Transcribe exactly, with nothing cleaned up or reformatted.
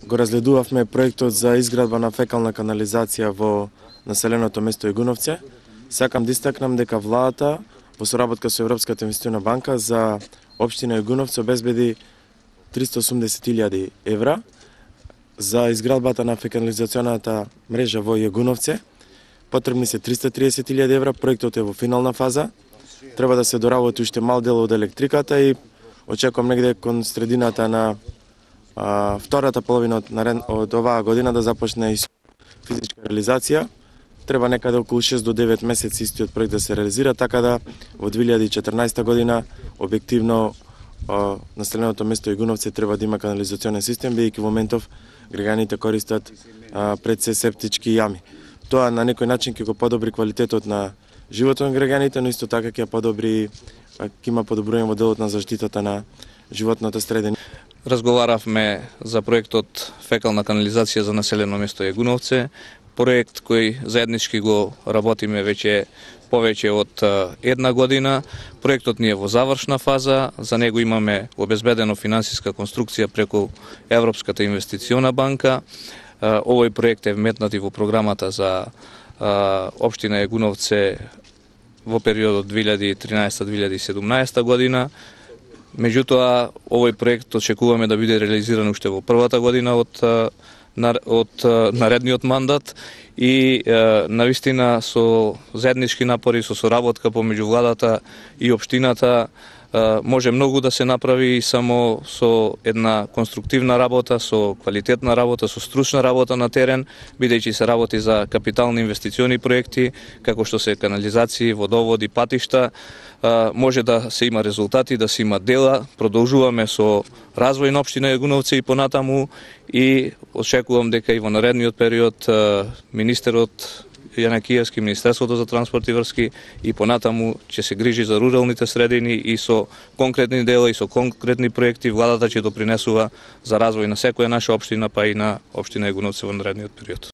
го разгледувавме проектот за изградба на фекална канализација во населеното место Егуновце. Сакам да истакнам дека владата во соработка со Европската инвестициона банка за општина Егуновце обезбеди триста и осумдесет илјади евра за изградбата на фекализационата мрежа во Егуновце. Потребни се триста и триесет илјади евра, проектот е во финална фаза. Треба да се доработи уште мал дел од електриката и очекувам негде кон средината на а, втората половина од, од оваа година да започне и физичка реализација. Треба некаде околу шест до девет месеци истиот проект да се реализира, така да во две илјади и четрнаесета година објективно а, населеното место Егуновце треба да има канализационен систем, бидејќи во моментов граѓаните користат а, пред се септички јами. Тоа на некој начин ќе го подобри квалитетот на животот на граѓаните, но исто така ќе подобри, ќе има подобрување во делот на заштитата на животната средина. Разговаравме за проектот фекална канализација за населено место Егуновце, проект кој заеднички го работиме веќе повеќе од една година. Проектот ни е во завршна фаза, за него имаме обезбедено финансиска конструкција преку Европската инвестициона банка. Овој проект е вметнат и во програмата за општина Егуновце во периодот две илјади и тринаесета до две илјади и седумнаесета година. Меѓутоа, овој проект очекуваме да биде реализиран уште во првата година од, од наредниот мандат и навистина со заеднички напори, со соработка помеѓу владата и општината може многу да се направи само со една конструктивна работа, со квалитетна работа, со стручна работа на терен, бидејќи се работи за капитални инвестициони проекти, како што се канализации, водоводи, патишта. Може да се има резултати, да се има дела. Продолжуваме со развој на општина Егуновце и понатаму и очекувам дека и во наредниот период министерот Јанакиевски, Министерството за транспорт и врски и понатаму ќе се грижи за руралните средини и со конкретни дела и со конкретни проекти владата ќе допринесува за развој на секоја наша општина, па и на општина Егуновце во наредниот период.